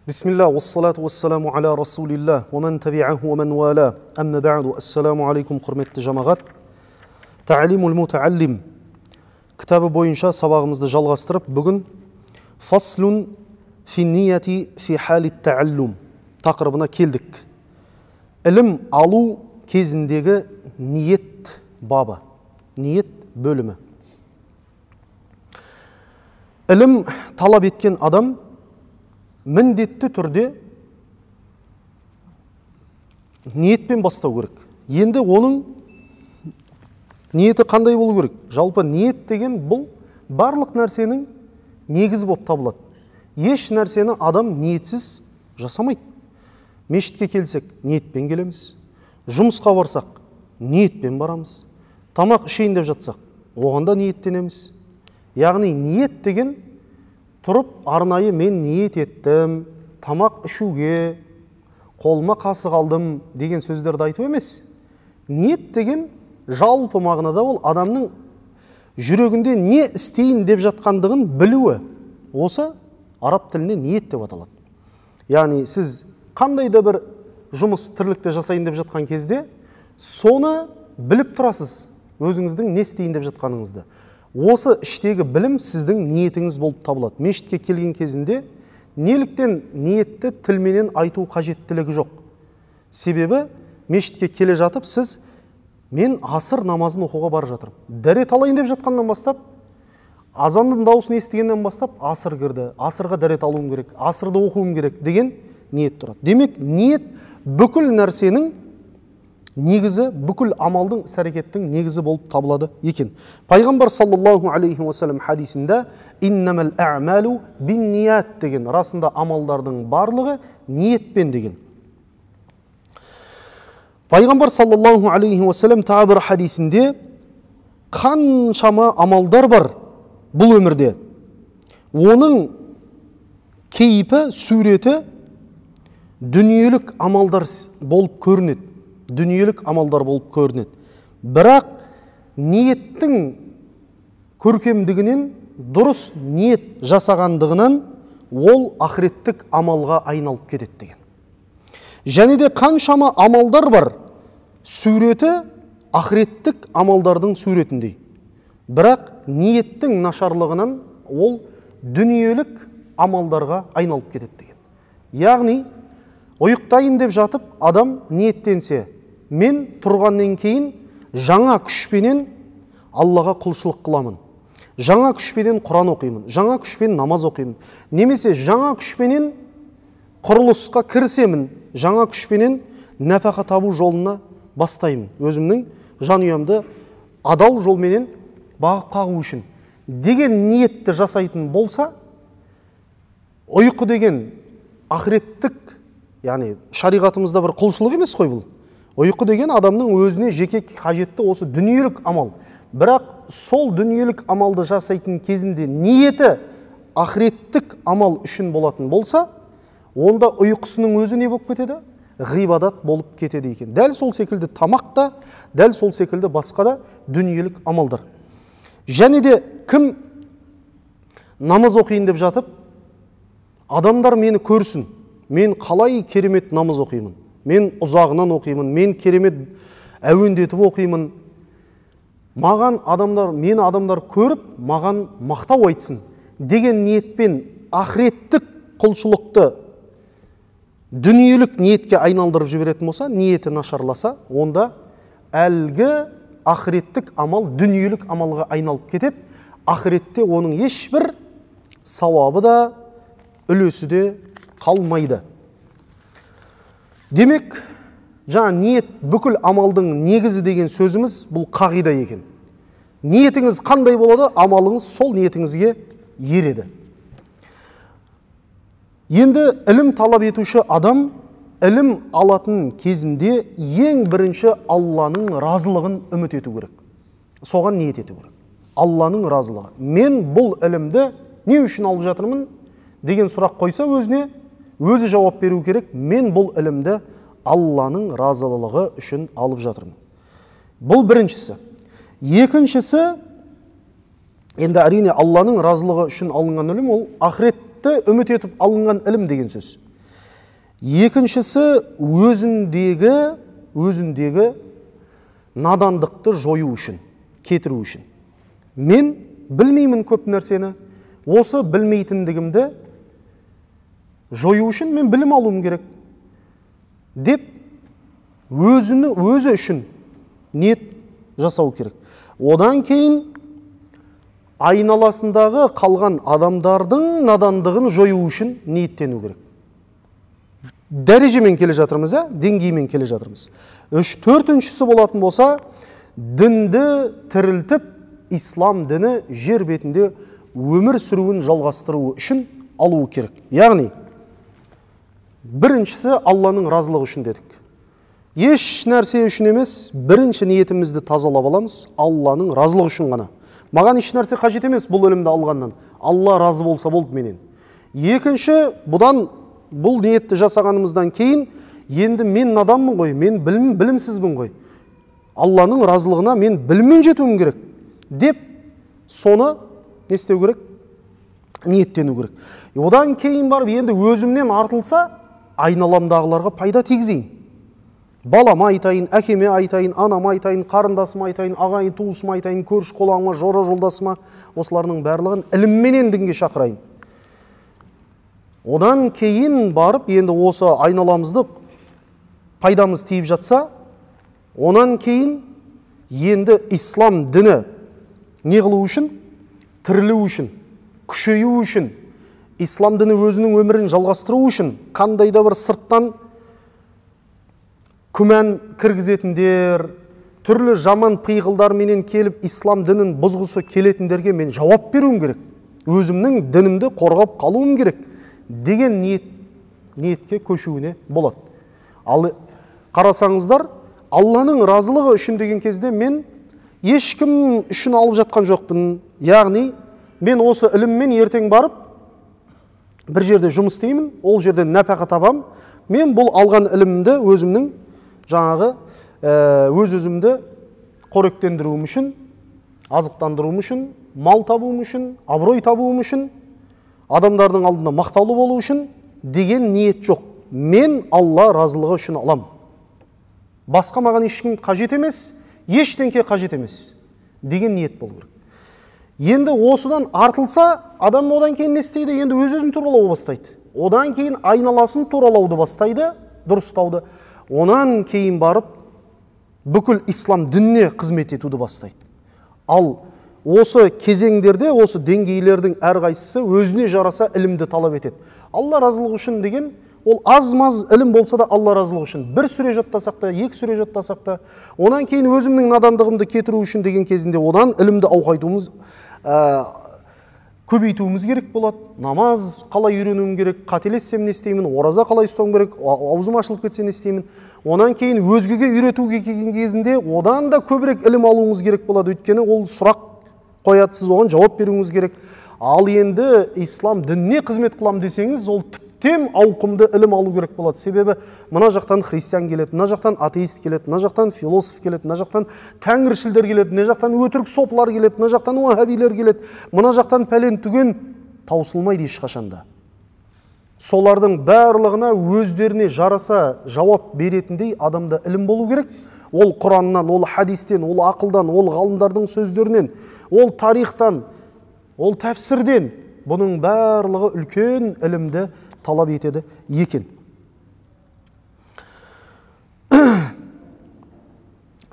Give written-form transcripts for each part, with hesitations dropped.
Bismillah, wassalatu wassalamu ala rasulillah, wa man tabi'ahu wa man wala, amma ba'du, assalamu alaikum, құрметті жамағат. Ta'limul muta'allim кітабы бойынша сабағымызды жалғастырып, бүгін фаслун фи нияти фи халит ta'allum тақырыбына келдік. Ілім алу кезіндегі ниет бабы, ниет бөлімі. Ілім талап еткен адам міндетті түрде ниетпен бастау керек. Енді оның ниеті қандай болу керек? Жалпы ниет деген бұл барлық нәрсенің негізі болып табылады. Еш нәрсені адам ниетсіз жасамайды. Мешітке келсек, ниетпен келеміз. Жұмысқа барсақ, ниетпен барамыз. Тамақ ішейін деп жатсақ, оған да ниеттенеміз. Яғни ниет деген тұрып, арнайы мен ниет еттім, тамақ ішуге, қолыма қасық алдым деген сөздерді айту емес. Ниет деген жалпы мағынада ол адамның жүрегінде не істейін деп жатқандығын білуі. Осы араб тілінде ниет деп аталады. Яғни сіз қандай да бір жұмыс тірлікте жасайын деп жатқан кезде, соны біліп тұрасыз, өзіңіздің не істейін деп жатқаныңызды. Осы іштегі білім сіздің ниетіңіз болып табылады. Мешітке келген кезінде неліктен ниетті тілменен айту қажеттілігі жоқ. Себебі мешітке келе жатып сіз мен асыр намазын оқуға бара жатырмын. Дәрет алайын деп жатқаннан бастап, азанның дауысын естігеннен бастап асыр кірді. Асырға дәрет алуым керек, асырды оқуым керек деген ниет тұрады. Демек, ниет бүкіл нәрсенің негізі, бүкіл амалдың, іс-әрекеттің негізі болып табылады екен. Пайғамбар саллаллаху алейхи уассалам хадисінде иннамал а'малу бинният деген, расында амалдардың барлығы ниетпен деген. Пайғамбар саллаллаху алейхи уассалам тағы бір хадисінде қаншама амалдар бар бұл өмірде. Оның кейпі, суреті дүниелік амалдар болып көрінеді. Дүниелік амалдар болып көрінеді. Бірақ ниеттің көркемдігінен, дұрыс ниет жасағандығынан ол ақыреттік амалға айналып кетеді деген. Және де қаншама амалдар бар, суреті ақыреттік амалдардың суретіндей. Бірақ ниеттің нашарлығынан ол дүниелік амалдарға айналып кетеді деген. Яғни, ұйықтайын деп жатып, адам ниеттенсе, мен тұрғаннан кейін жаңа күшпенен Аллаға құлшылық қыламын. Жаңа күшпенен Құран оқимын, жаңа күшпен намаз оқимын. Немесе жаңа күшпенен құрылысқа кірісемін, жаңа күшпенен нәпақа табу жолына бастаймын. Өзімнің жанұямды адал жолменен бағып қағу үшін деген ниетті жасайтын болса, ұйқы деген ақыреттік, яғни шариғатымызда бір құлшылық емес қой бұл. Ұйқы деген адамның өзіне жеке қажетті осы дүниелік амал. Бірақ сол дүниелік амалды жасайтын кезінде ниеті ақыреттік амал үшін болатын болса, онда ұйқысының өзі не болып кетеді? Ғибадат болып кетеді екен. Дәл сол секілді тамақ та, дәл сол секілді басқа да дүниелік амалдар. Және де кім намаз оқиын деп жатып, адамдар мені көрсін, мен қалай керемет намаз оқимын, мен ұзағынан оқимын, мен керемет әуендетіп оқимын, маған мені адамдар көріп, маған мақтау айтсын деген ниетпен ақыреттік құлшылықты дүниелік ниетке айналдырып жіберетін болса, ниеті нашарласа, онда әлгі ақыреттік амал дүниелік амалға айналып кетеді. Ақыретте оның ешбір сауабы да, үлесі де қалмайды. Демек, жаңа ниет бүкіл амалдың негізі деген сөзіміз бұл қағида екен. Ниетіңіз қандай болады, амалыңыз сол ниетіңізге ереді. Енді ілім талап етуші адам ілім алатын кезінде ең бірінші Алланың разылығын үміт ету керек. Соған ниет ету керек. Алланың разылығы. Мен бұл ілімді не үшін алып жатырмын деген сұрақ қойса өзіне, өзі жауап беру керек. Мен бұл ілімді Алланың разылығы үшін алып жатырмын. Бұл біріншісі. Екіншісі, енді әрине Алланың разылығы үшін алынған ілім, ол ақыретті үміт етіп алынған ілім деген сөз. Екіншісі өзіндегі надандықты жою үшін, кетіру үшін. Мен білмеймін көп нәрсені, осы білмейтіндігімді жою үшін мен білім алуым керек деп өзі үшін ниет жасау керек. Одан кейін айналасындағы қалған адамдардың надандығын жою үшін ниеттену керек. Дәрежемен келе жатырмыз, деңгеймен келе жатырмыз. Төртіншісі болатын болса, дінді тірілтіп, ислам діні жер бетінде өмір сүруін жалғастыруы үшін алуы керек. Яғни, біріншісі Алланың разылығы үшін дедік. Еш нәрсе үшін емес, бірінші ниетімізді тазалап аламыз, Алланың разылығы үшін ғана. Маған еш нәрсе қажет емес бұл өлімді алғаннан. Алла разы болса болды менен. Екінші, бұл ниетті жасағанымыздан кейін, енді мен наданмын ғой, мен білімсізбін ғой. Алланың разылығына мен біліммен жетуім керек деп, соны не істеу керек? Ниеттену керек. Одан кейін барып, енді өзімнен артылса, айналамдағыларға пайда тигізейін. Балама айтайын, әкеме айтайын, анама айтайын, қарындасыма айтайын, ағайын туысыма айтайын, көрші қолаңыма, жора жолдасыма, осыларының барлығын ілімменен дінге шақырайын. Одан кейін барып, енді осы айналамызды пайдамыз тиіп жатса, онан кейін енді ислам діні не қылу үшін? Тірілу үшін, күшею үшін, ислам діні өзінің өмірін жалғастыру үшін, қандай да бір сырттан күмән кіргізетіндер, түрлі жаман пиғылдарменен келіп ислам дінін бұзғысы келетіндерге мен жауап беруім керек. Өзімнің дінімді қорғап қалуым керек деген ниетке көшуіне болады. Ал қарасаңыздар, Алланың разылығы үшін деген кезде мен ешкім үшін алып жатқан жоқпын. Яғни, мен осы іліммен ертең барып, бір жерде жұмыс істеймін, ол жерде нәпақа табам. Мен бұл алған ілімді өзімнің өзімді қоректендіруім үшін, азықтандыруым үшін, мал табуым үшін, абырой табуым үшін, адамдардың алдында мақтаулы болу үшін деген ниет жоқ. Мен Алла разылығы үшін алам. Басқа маған ешкім қажет емес, ештеңке қажет емес деген ниет болу керек. Енді осыдан артылса, адам одан кейін не істейді? Енді өз-өзін туралауды бастайды. Одан кейін айналасын туралауды бастайды, дұрыстауды. Онан кейін барып, бүкіл ислам дініне қызмет етуді бастайды. Ал осы кезеңдерде, осы деңгейлердің әрқайсысы өзіне жараса ілімді талап етеді. Алла разылығы үшін деген, ол аз-маз ілім болса да Алла разылығы үшін. Бір сүре жаттасақ та, екі сүре жаттасақ та, онан кейін өзімнің надандығымды кетіру үшін деген кезінде одан ілімді ауқайтуымыз, көбейтуіміз керек болады. Намаз қалай үйренуім керек, қателессем не істеймін, ораза қалай ұстауым керек, аузым ашылып кетсе не істеймін. Онан кейін өзгеге үйретуге келген кезінде одан да көбірек ілім алуыңыз керек болады. Өйткені ол сұрақ қояды, сіз оған жауап беруіңіз керек. Ал енді ислам дініне қызмет қылам десеңіз, ол тіптен ауқымды ілім алу керек болады. Себебі мына жақтан христиан келеді, мына жақтан атеист келеді, мына жақтан философ келеді, мына жақтан тәңіршілдер келеді, мына жақтан өтірік сопылар келеді, мына жақтан уахабилер келеді, мына жақтан пәлен түген, таусылмайды ешқашанда. Солардың барлығына өздеріне жараса жауап беретіндей адамда ілім болу керек. Ол Құраннан, ол хадистен, ол ақылдан, ол ғалымдардың сөздерінен, ол тарихтан, ол тәпсірден, бұның барлығы үлкен ілімді талап етеді екен.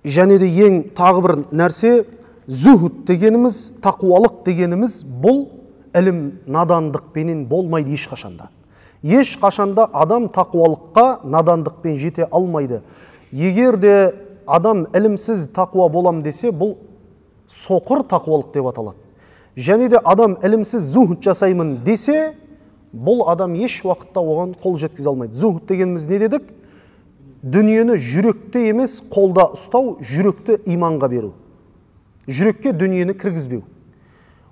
Және де ең тағы бір нәрсе, зүхуд дегеніміз, тақуалық дегеніміз, бұл ілім надандықпенен болмайды ешқашанда. Ешқашанда адам тақуалыққа надандықпен жете алмайды. Егер де адам ілімсіз тақуа болам десе, бұл соқыр тақуалық деп аталады. Және де адам ілімсіз зүхуд жасаймын десе, бұл адам еш уақытта оған қол жеткізе алмайды. Зүхуд дегеніміз не дедік? Дүниені жүректе емес, қолда ұстау, жүректі иманға беру. Жүрекке дүниені кіргізбеу.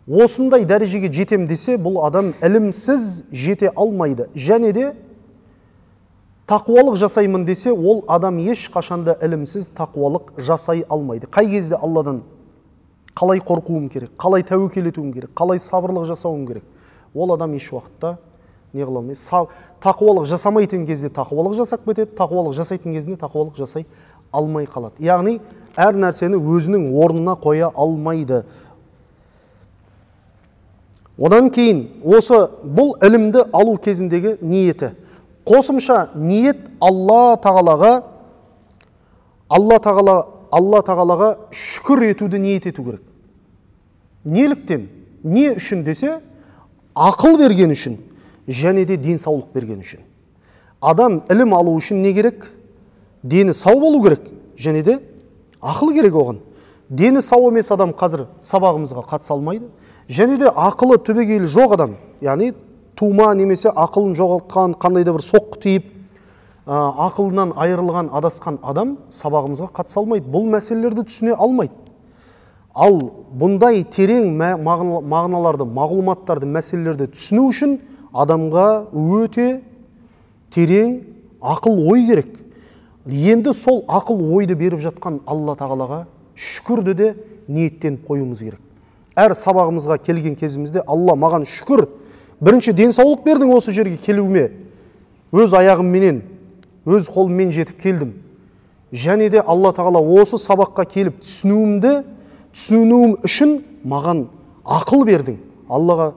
Осындай дәрежеге жетем десе, бұл адам ілімсіз жете алмайды. Және де тақуалық жасаймын десе, ол адам еш қашанда ілімсіз тақуалық жасай алмайды. Қай кезде Алладан қалай қорқуым керек, қалай тәуекел етуім керек, қалай сабырлық жасауым керек, ол адам еш уақытта не қыла алмайды. Тақуалық жасамайтын кезде тақуалық жасап кетеді, тақуалық жасайтын кезінде тақуалық жасай алмай қалады. Яғни әр нәрсені өзінің орнына қоя алмайды. Одан кейін осы бұл ілімді алу кезіндегі ниеті. Қосымша ниет Алла тағалаға шүкір етуді ниет ету керек. Неліктен? Не үшін десе, ақыл берген үшін, және де денсаулық берген үшін. Адам ілім алу үшін не керек? Дені сау болу керек, және де ақыл керек оған. Дені сау емес адам қазір сабағымызға қатыса алмайды. Және де ақылы түбегейлі жоқ адам, яғни тума немесе ақылын жоғалтқан, қандай да бір соққы тиіп, ақылынан айырылған, адасқан адам сабағымызға қатыса алмайды. Бұл мәселелерді түсіне алмайды. Ал бұндай терең мағыналарды, мағлұматтарды, мәселелерді түсіну үшін адамға өте терең ақыл ой керек. Енді сол ақыл ойды беріп жатқан Алла тағалаға шүкірді де ниеттеніп қоюымыз керек. Әр сабағымызға келген кезімізде Алла маған шүкір, бірінші денсаулық бердің осы жерге келуіме, өз аяғымменен, өз қолыммен жетіп келдім. Және де Алла тағала осы сабаққа келіп түсінуім үшін маған ақыл бердің. Аллаға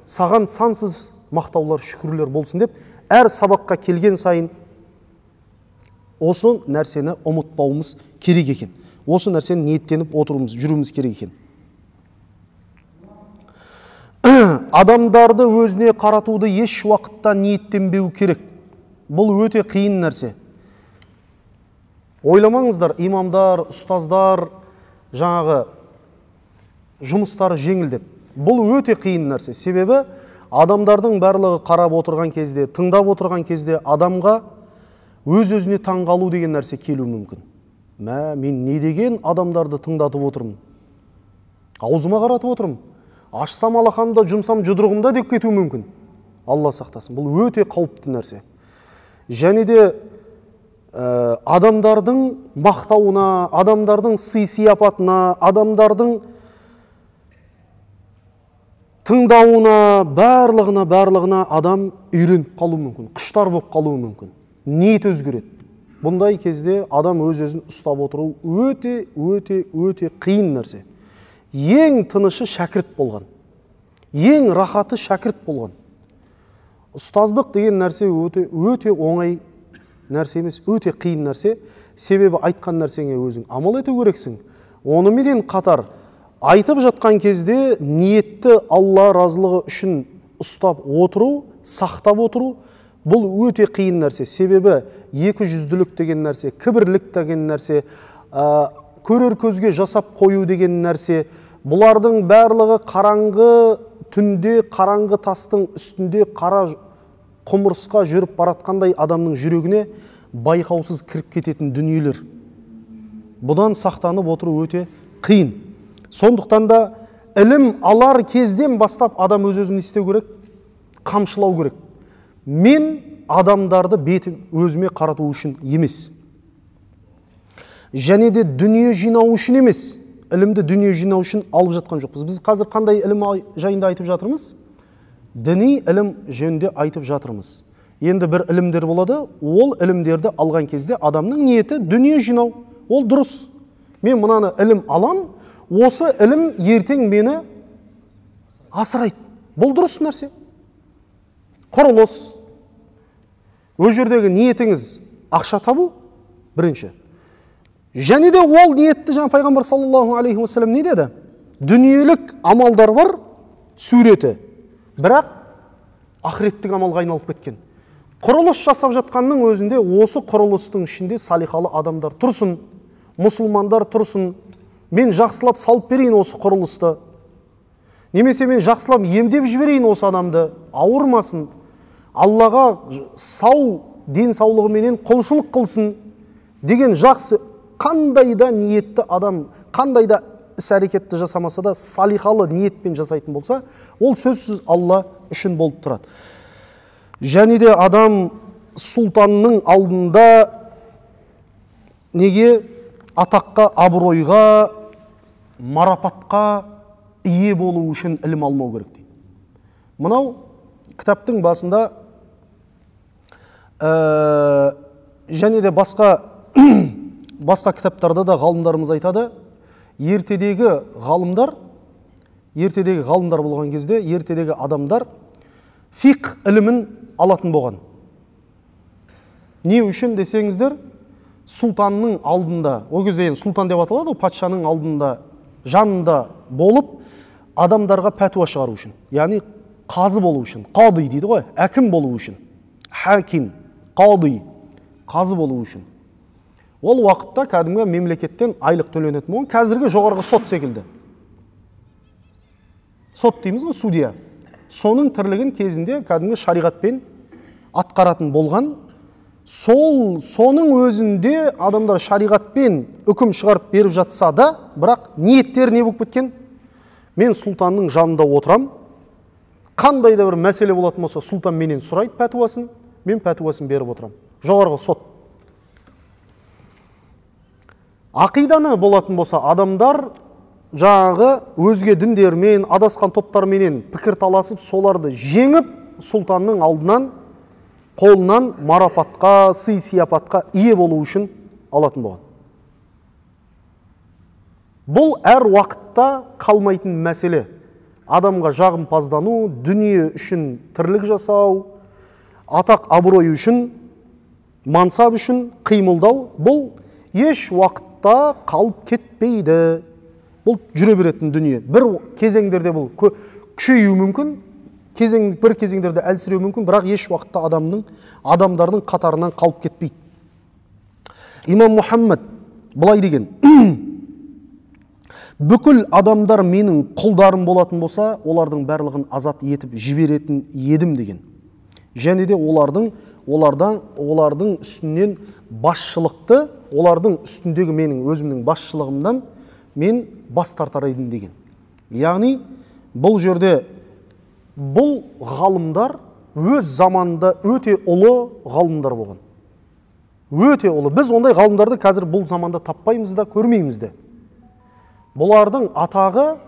саған сансыз мақтаулар, шүкірлер болсын деп, әр сабаққа келген сайын осы нәрсені ұмытпауымыз керек екен. Осы нәрсені ниеттеніп жүруіміз керек екен. Адамдарды өзіне қаратуды еш уақытта ниеттенбеу керек. Бұл өте қиын нәрсе. Ойламаңыздар, имамдар, ұстаздар, жаңағы жұмыстары жеңіл деп. Бұл өте қиын нәрсе. Себебі адамдардың барлығы қарап отырған кезде, тыңдап отырған кезде адамға өз-өзіне таңғалу деген нәрсе келуі мүмкін. Мен не деген адамдарды тыңдатып отырмын? Аузыма қаратып отырмын. Ашсам алақанымда, жұмсам жұдырығымда деп кетуі мүмкін. Алла сақтасын. Бұл өте қауіпті нәрсе. Және де адамдардың мақтауына, адамдардың сый-сияпатына, адамдардың тыңдауына, барлығына адам үйреніп қалуы мүмкін, құштар болып қалуы мүмкін. Ниет өзгереді. Бұндай кезде адам өз-өзін ұстап отыру өте қиын нәрсе. Ең тынышы шәкірт болған, ең рахаты шәкірт болған. Ұстаздық деген нәрсе өте оңай нәрсе емес, өте қиын нәрсе. Себебі айтқан нәрсеңе өзің амал ету керексің. Онымен қатар айтып жатқан кезде ниетті Алла разылығы үшін ұстап отыру, сақтап отыру, бұл өте қиын нәрсе. Себебі екі жүзділік деген нәрсе, кібірлік деген нәрсе, көрер көзге жасап қою деген нәрсе, бұлардың барлығы қараңғы түнде, қараңғы тастың үстінде қара құмырсқа жүріп баратқандай адамның жүрегіне байқаусыз кіріп кететін дүниелер. Бұдан сақтанып отыру өте қиын. Сондықтан да ілім алар кезден бастап адам өз-өзін істеу керек, қамшылау керек. Мен адамдарды бетім өзіме қарату үшін емес. Және де дүние жинау үшін емес. Ілімді дүние жинау үшін алып жатқан жоқпыз. Біз қазір қандай ілім жайында айтып жатырмыз? Діни ілім жөнінде айтып жатырмыз. Енді бір ілімдер болады, ол ілімдерді алған кезде адамның ниеті дүние жинау. Ол дұрыс. Мен мынаны ілім алам, осы ілім ертең мені асырайды. Бұл дұрыс нәрсе. Құрылыс. Өз жердегі ниетіңіз ақша табу бірінші. Және де ол ниетті жаңа пайғамбар саллаллаху алейхи уассалам не деді? Дүниелік амалдар бар, суреті. Бірақ ақыреттік амалға айналып кеткен. Құрылыс жасап жатқанның өзінде осы құрылыстың ішінде салихалы адамдар тұрсын, мұсылмандар тұрсын. Мен жақсылап салып берейін осы құрылысты. Немесе мен жақсылап емдеп жіберейін осы адамды, ауырмасын. Аллаға сау денсаулығыменен құлшылық қылсын деген жақсы, қандай да ниетті адам, қандай да іс-әрекетті жасамаса да салихалы ниетпен жасайтын болса, ол сөзсіз Алла үшін болып тұрады. Және де адам сұлтанның алдында неге атаққа, абыройға, марапатқа ие болу үшін ілім алмау керек дейді. Мынау кітаптың басында Және де басқа кітаптарда да ғалымдарымыз айтады, ертедегі ғалымдар болған кезде, ертедегі адамдар фиқ ілімін алатын болған. Не үшін десеңіздер, сұлтанның алдында, о кезде сұлтан деп аталады, патшаның алдында, жанында болып, адамдарға пәтуа шығару үшін. Яғни қазы болу үшін, қады дейді ғой, әкім болу үшін. Хаким, қады, қазы болу үшін. Ол уақытта кәдімгі мемлекеттен айлық төленетін болған, қазіргі жоғарғы сот секілді. Сот дейміз ғой, судья. Соның тірлігін кезінде кәдімгі шариғатпен атқаратын болған. Соның өзінде адамдар шариғатпен үкім шығарып беріп жатса да, бірақ ниеттер не болып кеткен? Мен сұлтанның жанында отырам, қандай да бір мәселе болатын болса, сұлтан менен сұрайды пәтуасын, мен пәтуасын беріп отырам. Жоғарғы сот. Ақиданы болатын болса, адамдар жаңағы өзге діндермен, адасқан топтарменен пікір таласып, соларды жеңіп, сұлтанның алдынан, қолынан марапатқа, сый-сияпатқа ие болу үшін алатын болған. Бұл әр уақытта қалмайтын мәселе. Адамға жағымпаздану, дүние үшін тірлік жасау, атақ абырой үшін, мансап үшін қимылдау, бұл еш уақытта қалып кетпейді. Бұл жүре беретін дүние. Бір кезеңдерде бұл күшеюі мүмкін, бір кезеңдерде әлсіреуі мүмкін, бірақ еш уақытта адамдардың қатарынан қалып кетпейді. Имам Мұхаммад былай деген: бүкіл адамдар менің құлдарым болатын болса, олардың барлығын азат етіп жіберетін едім деген. Және де олардың үстінен басшылықты, олардың үстіндегі менің өзімнің басшылығымдан мен бас тартар едім деген. Яғни бұл жерде бұл ғалымдар өз заманында өте ұлы ғалымдар болған. Өте ұлы. Біз ондай ғалымдарды қазір бұл заманда таппаймыз да, көрмейміз де. Бұлардың атағы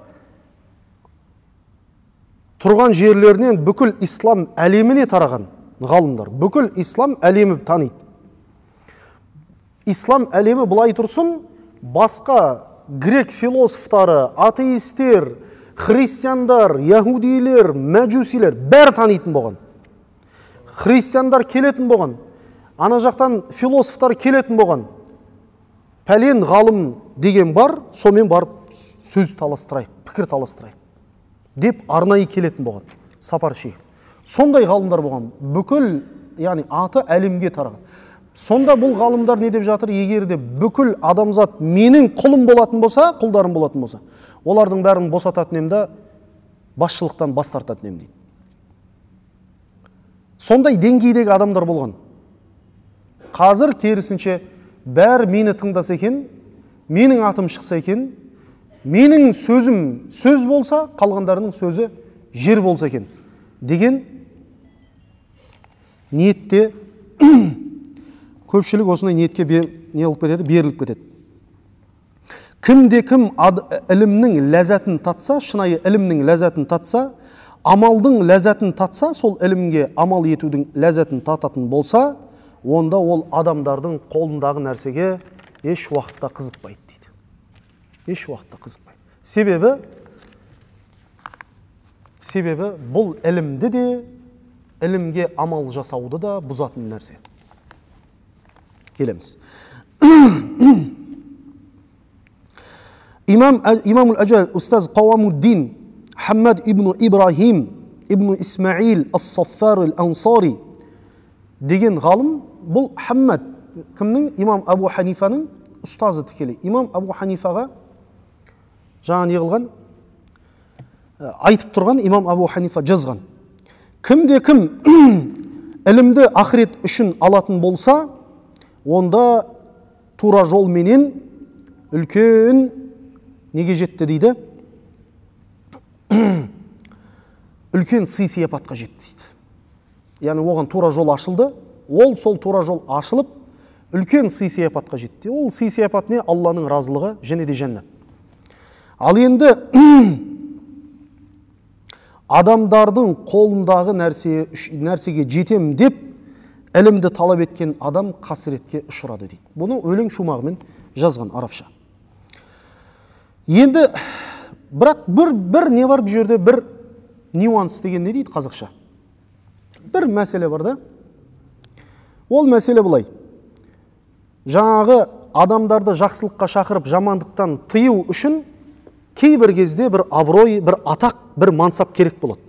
тұрған жерлерінен бүкіл ислам әлеміне тараған ғалымдар. Бүкіл ислам әлемі таниды. Ислам әлемі бұлай тұрсын, басқа грек философтары, атеистер, христиандар, яһудилер, мәжусилер бәрі танитын болған. Христиандар келетін болған. Ана жақтан философтар келетін болған. Пәлен ғалым деген бар, сомен барып сөз таластырайық, пікір таластырайық деп арнайы келетін болған. Сапар шегіп. Сондай ғалымдар болған. Бүкіл, яғни аты әлемге тараған. Сонда бұл ғалымдар не деп жатыр? Егер де бүкіл адамзат менің құлым болатын болса, құлдарым болатын болса, олардың бәрін босататын емді, басшылықтан бас тартатын ем дейді. Сондай деңгейдегі адамдар болған. Қазір керісінше бәрі мені тыңдаса екен, менің атым шықса екен, менің сөзім сөз болса, қалғандарының сөзі жер болса екен деген ниетте көпшілік осындай ниетке беріліп кетеді. Кімде-кім ілімнің ләззатын татса, шынайы ілімнің ләззатын татса, амалдың ләззатын татса, сол ілімге амал етудің ләззатын тататын болса, онда ол адамдардың қолындағы нәрсеге еш уақытта қызықпайды дейді. Еш уақытта қызықпайды. Себебі бұл ілімді де, ілімге амал жасауды да бұзатын нәрсе. Келеміз. Имамул Аджал Устаз Қауамуддин Хаммад ибн Ибрахим ибн Исмаил ас-Саффар ал-Ансари деген ғалым, бұл Хаммад кімнің? Имам Абу Ханифаның ұстазы тікелей. Имам Абу Ханифаға жаңа не қылған? Айтып тұрған Имам Абу Ханифа жазған. Кімде-кім ілімді ақырет үшін алатын болса, онда тура жол менен үлкен неге жетті дейді? Үлкен сый-сияпатқа жетті дейді. Яғни оған тура жол ашылды, ол сол тура жол ашылып, үлкен сый-сияпатқа жетті. Ол сый-сияпат не? Алланың разылығы және де жәннат. Ал енді адамдардың қолындағы нәрсеге жетем деп ілімді талап еткен адам қасіретке ұшырады дейді. Бұны өлең шумағымен жазған арабша. Енді бірақ бір не бар бұл жерде, бір нюанс деген не дейді қазақша? Бір мәселе бар да. Ол мәселе бұлай. Жаңағы адамдарды жақсылыққа шақырып, жамандықтан тыю үшін кейбір кезде бір абырой, бір атақ, бір мансап керек болады.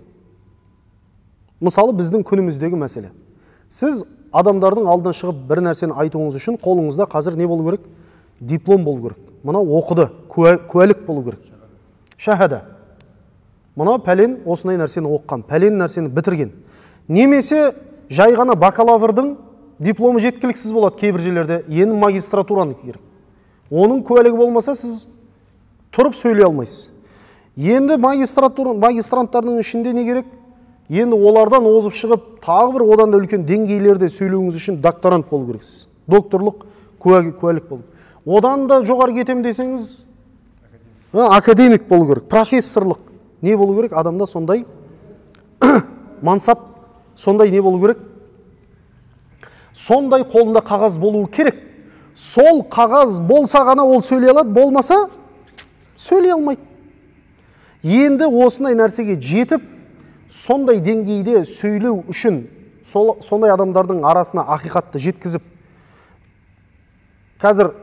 Мысалы, біздің күніміздегі мәселе. Сіз адамдардың алдына шығып бір нәрсені айтуыңыз үшін қолыңызда қазір не болу керек? Диплом болу керек. Мына оқыды, куәлік болу керек. Шахада. Мына пәлен осындай нәрсені оққан, пәлен нәрсені бітірген. Немесе жай ғана бакалаврдың дипломы жеткіліксіз болады кейбір жерлерде. Енді магистратураны керек. Оның куәлігі болмаса, сіз тұрып сөйлей алмайсыз. Енді магистранттардың ішінде не керек? Енді олардан озып шығып, тағы бір одан да үлкен деңгейлерде сөйлеуіңіз үшін докторант болу керексіз. Докторлық куәлік болу. Одан да жоғары кетем десеңіз, академик болу керек, профессорлық не болу керек? Адамда сондай мансап, сондай не болу керек? Сондай қолында қағаз болуы керек. Сол қағаз болса ғана ол сөйлей алады, болмаса сөйлей алмайды. Енді осындай нәрсеге жетіп, сондай деңгейде сөйлеу үшін, сондай адамдардың арасына ақиқатты жеткізіп, қазір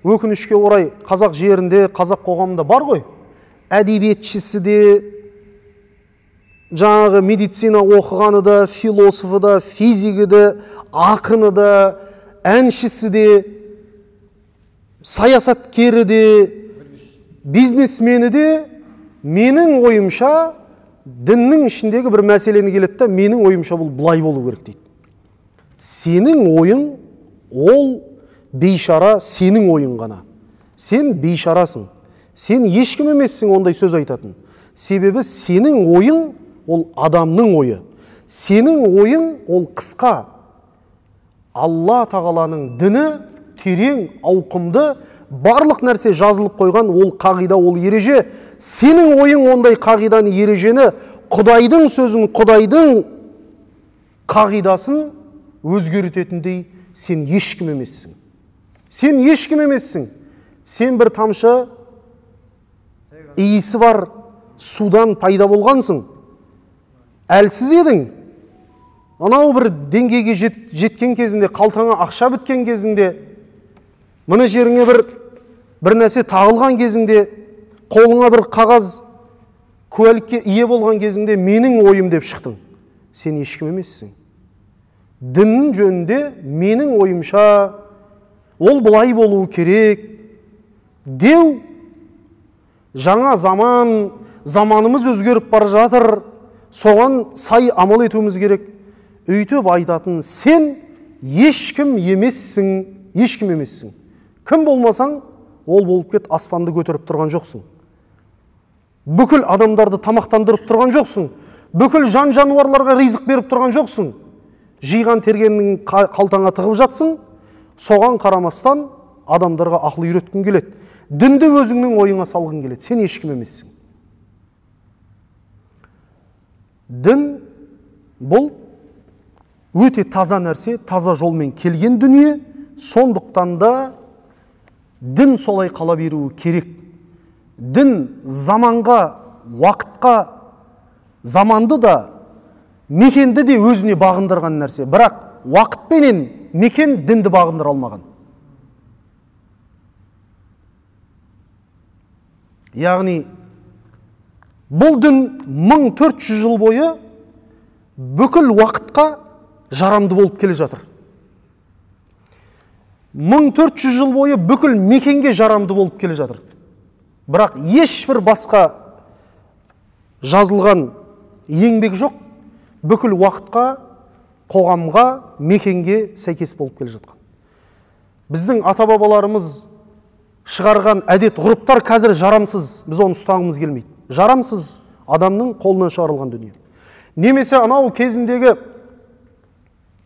өкінішке орай қазақ жерінде, қазақ қоғамында бар ғой, әдебиетшісі де, жаңағы медицина оқығаны да, философы да, физигі де, ақыны да, әншісі де, саясаткері де, бизнесмені де, менің ойымша діннің ішіндегі бір мәселені келеді да, менің ойымша бұл бұлай болу керек дейді. Сенің ойың, ол бейшара сенің ойың ғана. Сен бейшарасың. Сен ешкім емессің ондай сөз айтатын. Себебі сенің ойың, ол адамның ойы. Сенің ойың, ол қысқа. Алла тағаланың діні терең, ауқымды, барлық нәрсе жазылып қойған, ол қағида, ол ереже. Сенің ойың ондай қағиданы, ережені, Құдайдың сөзін, Құдайдың қағидасын өзгертетіндей сен ешкім емессің. Сен ешкім емессің. Сен бір тамшы иісі бар судан пайда болғансың. Әлсіз едің. Анау бір деңгейге жеткен кезінде, қалтаңа ақша біткен кезінде, мына жеріңе бір нәрсе тағылған кезінде, қолыңа бір қағаз куәлікке ие болған кезінде менің ойым деп шықтың. Сен ешкім емессің. Діннің жөнінде менің ойымша ол бұлай болуы керек деу, жаңа заманымыз өзгеріп бара жатыр, соған сай амал етуіміз керек. Өйтіп айтатын сен ешкім емессің, ешкім емессің. Кім болмасаң, ол болып кет, аспанды көтеріп тұрған жоқсың. Бүкіл адамдарды тамақтандырып тұрған жоқсың. Бүкіл жан-жануарларға ризық беріп тұрған жоқсың. Жиған тергеннің қалтаңа тығып жатсың, соған қарамастан адамдарға ақыл үйреткің келеді. Дінді өзіңнің ойыңа салғың келеді. Сен ешкім емессің. Дін бұл өте таза нәрсе, таза жолмен келген дүние, сондықтан да дін солай қала беруі керек. Дін заманға, уақытқа, заманды да, мекенді де өзіне бағындырған нәрсе. Бірақ уақытпенен мекен дінді бағындыра алмаған. Яғни, бұл дін 1400 жыл бойы бүкіл уақытқа жарамды болып келе жатыр. 1400 жыл бойы бүкіл мекенге жарамды болып келе жатыр. Бірақ ешбір басқа жазылған еңбек жоқ, бүкіл уақытқа, қоғамға, мекенге сәйкес болып келе жатқан. Біздің ата-бабаларымыз шығарған әдет, ғұрыптар қазір жарамсыз, біз оны ұстағымыз келмейді. Жарамсыз адамның қолынан шығарылған дүние. Немесе анау кезіндегі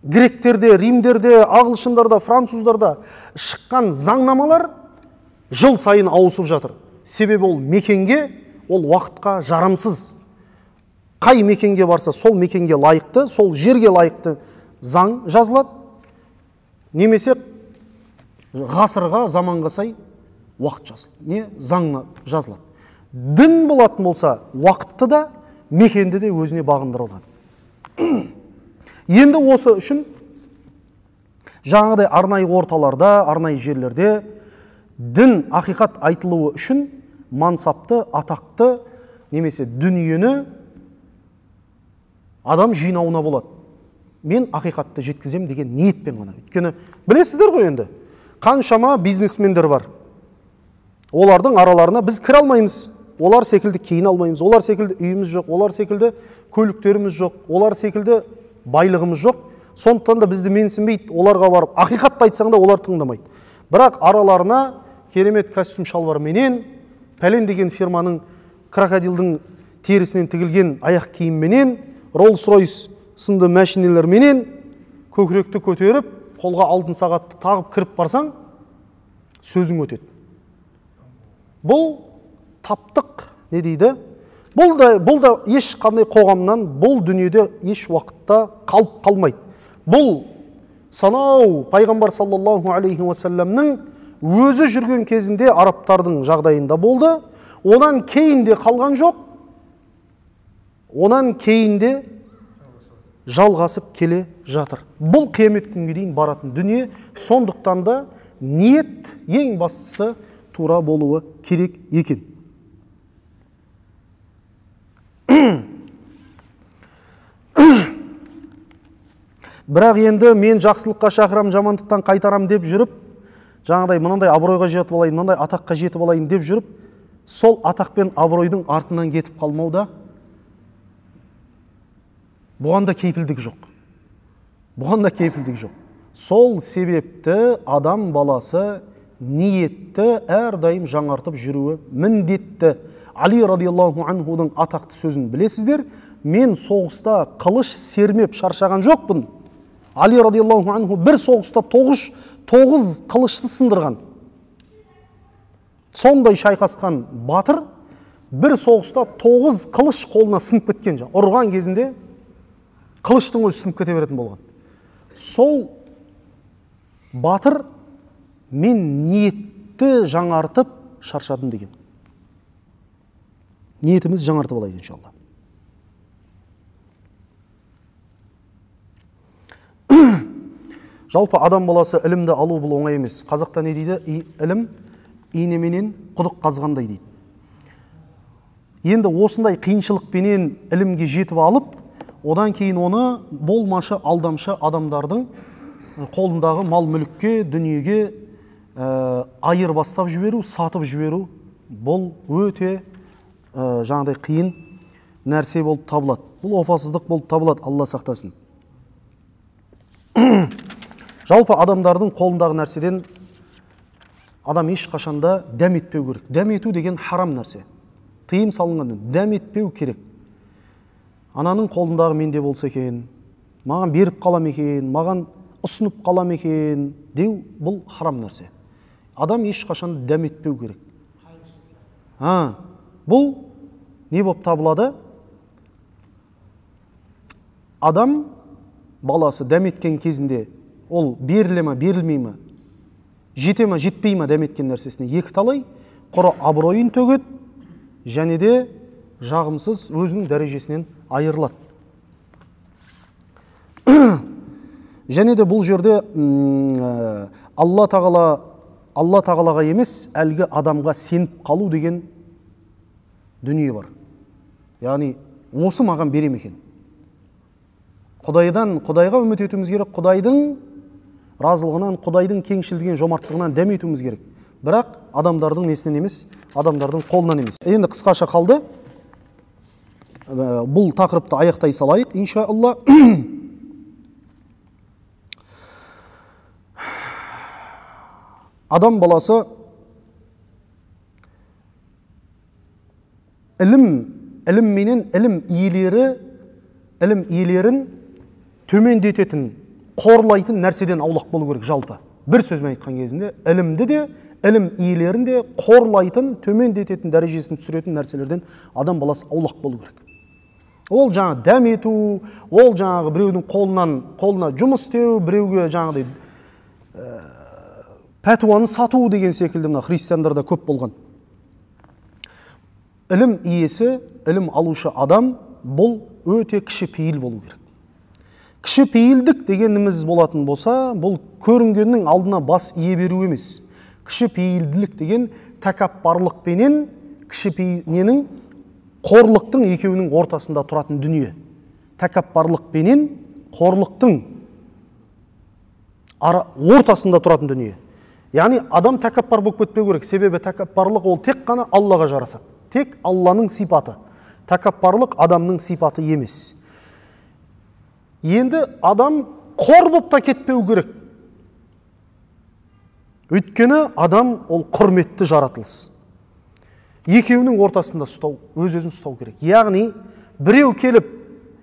гректерде, римдерде, ағылшындарда, француздарда шыққан заңнамалар жыл сайын ауысып жатыр. Себебі ол мекенге, ол уақытқа жарамсыз. Қай мекенге барса, сол мекенге лайықты, сол жерге лайықты заң жазылады. немесе ғасырға, заманға сай уақыт жазылады, заңна жазылады. Дін болатын болса, уақытты да, мекенді де өзіне бағындырылған. Енді осы үшін жаңағыдай арнайы орталарда, арнайы жерлерде дін, ақиқат айтылуы үшін мансапты, атақты немесе дүниені адам жинауына болады. Мен ақиқатты жеткізем деген ниетпен ғана. Өйткені білесіздер ғой енді, қаншама бизнесмендер бар. Олардың араларына біз кіре алмаймыз. Олар секілді кейін алмаймыз. Олар секілді үйіміз жоқ. Олар секілді көліктеріміз жоқ. Олар секілді байлығымыз жоқ. Сондықтан да бізді менсінбейді. Оларға барып ақиқатты айтсаң да олар тыңдамайды. Бірақ араларына керемет костюм шалбар менен, пәлен деген фирманың крокодилдің терісінен тігілген аяқ киім менен, Rolls-Royce сынды мәшинелер менен көкіректі көтеріп, қолға алтын сағатты тағып кіріп барсаң, сөзің өтеді. Бұл таптық, не дейді? Бұл да еш қандай қоғамнан, бұл дүниеде еш уақытта қалып қалмайды. Бұл санау пайғамбар саллаллаху алейхи уассаламның өзі жүрген кезінде арабтардың жағдайында болды. Онан кейінде қалған жоқ. Онан кейінде жалғасып келе жатыр. Бұл қиямет күнге дейін баратын дүние. Сондықтан да ниет ең бастысы тура болуы керек екен. Бірақ енді мен жақсылыққа шақырам, жамандықтан қайтарам деп жүріп, жаңағыдай мынандай абыройға жетіп алайын, мынандай атаққа жетіп алайын деп жүріп, сол атақ пен абыройдың артынан кетіп қалмауда, бұған да кейпілдік жоқ. Бұған да кейпілдік жоқ. Сол себепті адам баласы ниетті әрдайым жаңартып жүруі міндетті. Али радиаллаху анхудың атақты сөзін білесіздер. Мен соғыста қылыш сермеп шаршаған жоқпын. Али радиаллаху анху бір соғыста 9 қылышты сындырған. Сондай шайқасқан батыр бір соғыста 9 қылыш қолына сынып кеткен. Ұрған кезінде қылыштың өзі сынып кете беретін болған. Сол батыр мен ниетті жаңартып шаршадым деген. Ниетіміз жаңартып алайық иншалла. Жалпы адам баласы ілімді алу бұл оңай емес. Қазақта не дейді? Ілім инеменен құдық қазғандай дейді. Енді осындай қиыншылықпенен ілімге жетіп алып, одан кейін оны болмашы, алдамшы адамдардың қолындағы мал мүлікке, дүниеге айыр бастап жіберу, сатып жіберу, бұл өте жаңағыдай қиын нәрсе болып табылады. Бұл опасыздық болып табылады, Алла сақтасын. Жалпы адамдардың қолындағы нәрседен адам ешқашанда дәм етпеу керек. Дәм ету деген харам нәрсе. Тыйым салынған, дәм етпеу керек. Ананың қолындағы менде болса екен, маған беріп қалам екен, маған ұсынып қалам екен деу, бұл харам нәрсе. Адам ешқашанда дәм етпеу керек. Бұл не болып табылады? Адам баласы дәм еткен кезінде ол беріле ме, берілмей ме, жете ме, жетпей ме дәм еткен нәрсесіне екі талай, құры абыройын төгеді, және де жағымсыз өзінің дәрежесінен айырылады. Және де бұл жерде Алла тағалаға емес, әлгі адамға сеніп қалу деген дүние бар. Яғни, осы маған берем екен. Құдайға үміт етуіміз керек, Құдайдың разылығынан, Құдайдың кеңшілдеген жомарттығынан дәм етуіміз керек. Бірақ адамдардың несінен емес, адамдардың қолынан емес. Енді қысқаша қалды. Бұл тақырыпты аяқтай салайық, иншаалла. Адам баласы ілім менен ілім иелерін төмендететін, қорлайтын нәрседен аулақ болу керек жалпы. Бір сөзмен айтқан кезінде, ілімді де, ілім иелерін де қорлайтын, төмендететін, дәрежесін түсіретін нәрселерден адам баласы аулақ болу керек. Ол жаңа дәм ету, ол жаңағы біреудің қолына жұмыс істеу, біреуге жаңағыдай пәтуаны сату деген секілді мына христиандарда көп болған. Ілім иесі, ілім алушы адам бұл өте кішіпейіл болу керек. Кішіпейілдік дегеніміз болатын болса, бұл көрінгеннің алдына бас ие беру емес. Кішіпейілділік деген тәкаппарлық пенен кішіпейіненің қорлықтың екеуінің ортасында тұратын дүние. Тәкаппарлық пенен қорлықтың ортасында тұратын дүние. Яғни адам тәкаппар болып кетпеу керек. Себебі тәкаппарлық ол тек қана Аллаға жарасады. Тек Алланың сипаты. Тәкаппарлық адамның сипаты емес. Енді адам қор болып та кетпеу керек. Өйткені адам ол құрметті жаратылыс. Екеуінің ортасында өз-өзін ұстау керек. Яғни біреу келіп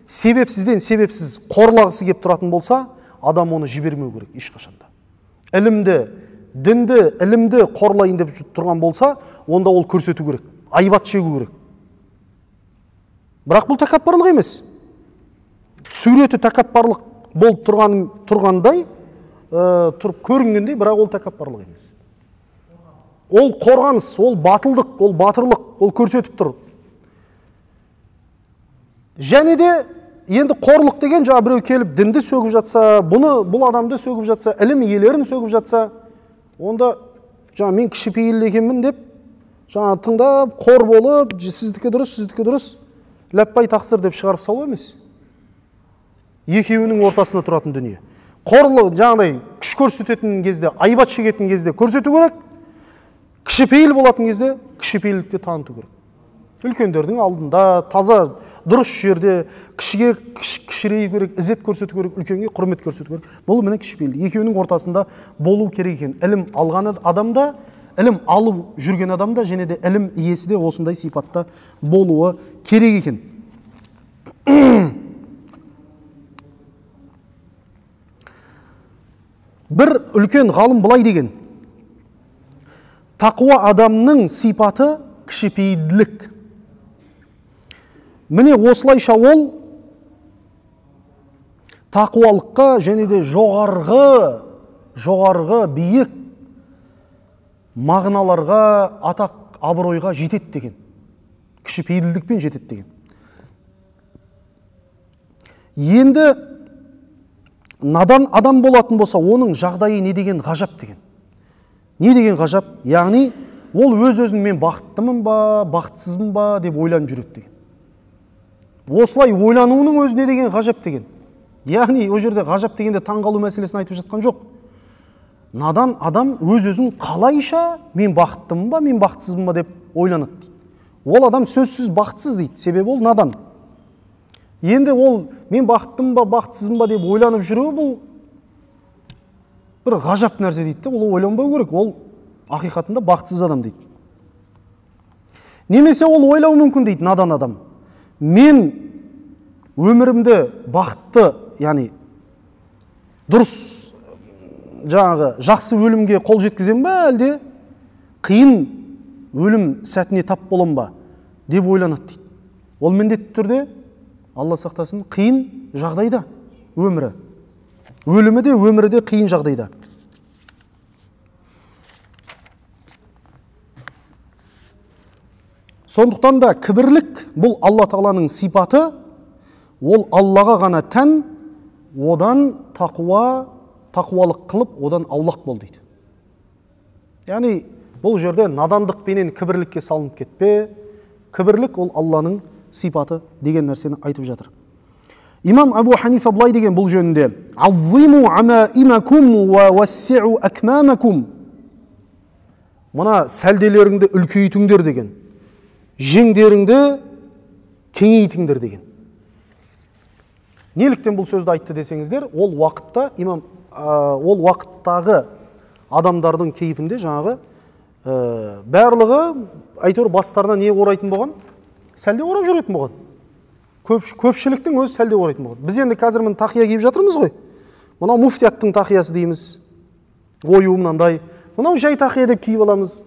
себепсізден себепсіз қорлағысы кеп тұратын болса, адам оны жібермеу керек ешқашанда. Дінді, ілімді қорлайын деп тұрған болса, онда ол көрсету керек, айбат шегу керек. Бірақ бұл тәкаппарлық емес. Суреті тәкаппарлық болып тұрғандай, тұрып көрінгендей, бірақ ол тәкаппарлық емес. Ол қорғаныс, ол батылдық, ол батырлық, ол көрсетіп тұр. Және де енді қорлық деген жаңа біреу келіп дінді сөгіп жатса, бұл адамды сөгіп жатса, ілім иелерін сөгіп жатса, онда жаңа мен кішіпейіл екенмін деп, жаңа тыңдап, қор болып, сіздікі дұрыс, ләппай тақсыр деп шығарып салу емес. Екеуінің ортасында тұратын дүние. Қорлық жаңағыдай күш көрсететін кезде, айбат шегетін кезде көрсету керек, кішіпейіл болатын кезде кішіпейілдікті таныту керек. Үлкендердің алдында, таза, дұрыс жерде, кішіге кішірейу керек, ізет көрсету керек, үлкенге құрмет көрсету керек. Бұл міне кішіпейілдік. Екеуінің ортасында болу керек екен. Ілім алған адамда, ілім алып жүрген адамда, және де ілім иесі де осындай сипатта болуы керек екен. Бір үлкен ғалым былай деген: тақуа адамның сипаты кішіпейілділік. Міне осылайша ол тақуалыққа және де жоғарғы биік мағыналарға, атақ, абыройға жетеді деген. Кішіпейілдікпен жетеді деген. Енді надан адам болатын болса, оның жағдайы не деген ғажап деген. Не деген ғажап? Яғни, ол өз-өзін мен бақыттымын ба, бақытсызбын ба деп ойланып жүреді деген. Осылай ойлануының өзіне деген ғажап деген. Яғни, о жерде ғажап дегенде таңғалу мәселесін айтып жатқан жоқ. Надан адам өз-өзін қалайша мен бақыттымын ба, мен бақытсызбын ба деп ойланады дейді. Ол адам сөзсіз бақытсыз дейді, себебі ол надан. Енді ол мен бақыттымын ба, бақытсызбын ба деп ойланып жүруі бұл бір ғажап нәрсе дейді. Ол ойланбау керек, ол ақиқатында бақытсыз адам дейді. Немесе ол ойлау мүмкін дейді надан адам. Мен өмірімді бақытты, яғни дұрыс, жаңағы жақсы өлімге қол жеткізем ба, әлде қиын өлім сәтіне тап болам ба деп ойланады дейді. Ол міндетті түрде, Алла сақтасын, қиын жағдайда өмірі. Өмірі де қиын жағдайда. Сондықтан да кібірлік бұл Алла Тағаланың сипаты, ол Аллаға ғана тән, одан тақуалық қылып, одан аулақ бол дейді. Яғни, бұл жерде надандық пенен кібірлікке салынып кетпе, кібірлік ол Алланың сипаты деген нәрсені айтып жатыр. Имам Абу Ханифа былай деген бұл жөнінде: «Аззиму амаимакум ва вассиу акмамакум». Мына сәлделеріңді үлкейтіңдер деген, жеңдеріңді кеңейтіңдер деген. Неліктен бұл сөзді айтты десеңіздер, ол уақыттағы адамдардың кейпінде жаңағы барлығы әйтеуір бастарына не орайтын болған? Сәлде орап жүретін болған. Көпшіліктің өзі сәлде орайтын болған. Біз енді қазір міне тақия киіп жатырмыз ғой. Мынау муфтияттың тақиясы дейміз. Ою мынандай. Мынау жай тақия деп киіп аламыз.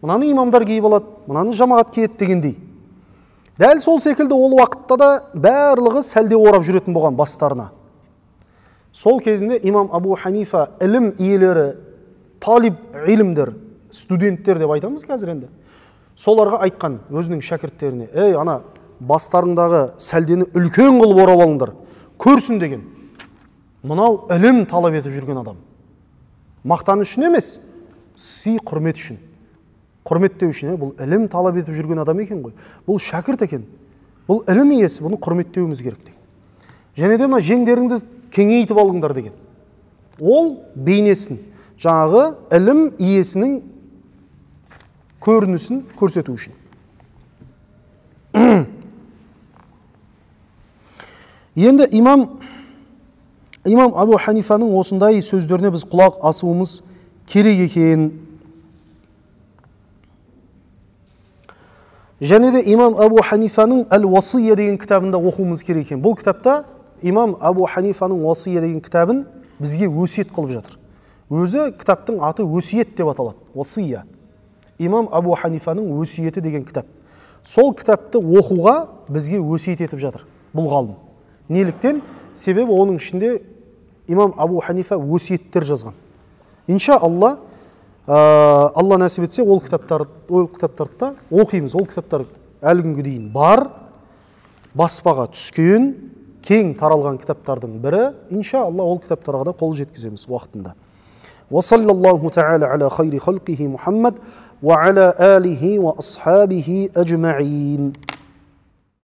Мынаны имамдар киіп алады, мынаны жамағат киеді дегендей. Дәл сол секілді ол уақытта да барлығы сәлде орап жүретін болған бастарына. Сол кезінде имам Абу Ханифа ілім иелері, талиб илімдер, студенттер деп айтамыз қазір енді. Соларға айтқан өзінің шәкірттеріне: ей, ана бастарыңдағы сәлдені үлкен қылып орап алыңдар, көрсін деген. Мынау ілім талап етіп жүрген адам. Мақтан үшін емес, сый құрмет үшін. Құрметтеу үшін, бұл ілім талап етіп жүрген адам екен ғой. Бұл шәкірт екен. Бұл ілім иесі, бұны құрметтеуіміз керек деген. Және де жеңдеріңді кеңейтіп алыңдар деген. Ол бейнесін, жаңағы ілім иесінің көрінісін көрсету үшін. Енді имам Абу Ханифаның осындай сөздеріне біз құлақ асуымыз керек екен. Және де имам Абу Ханифаның Әл-Уасия деген кітабында оқуымыз керек екен. Бұл кітапта имам Абу Ханифаның Уасия деген кітабын бізге өсиет қылып жатыр. Өзі кітаптың аты өсиет деп аталады. Уасия. Имам Абу Ханифаның өсиеті деген кітап. Сол кітапты оқуға бізге өсиет етіп жатыр бұл ғалым. Неліктен? Себебі оның ішінде имам Абу Ханифа өсиеттер жазған. Иншалла, Алла нәсіп етсе, ол кітаптарды оқимыз. Ол кітаптар әлі күнге дейін бар, баспаға түскен, кең таралған кітаптардың бірі. Иншалла, ол кітаптарға да қол жеткіземіз уақытында. وصلى الله تعالى على خير خلقه محمد وعلى آله وأصحابه أجمعين.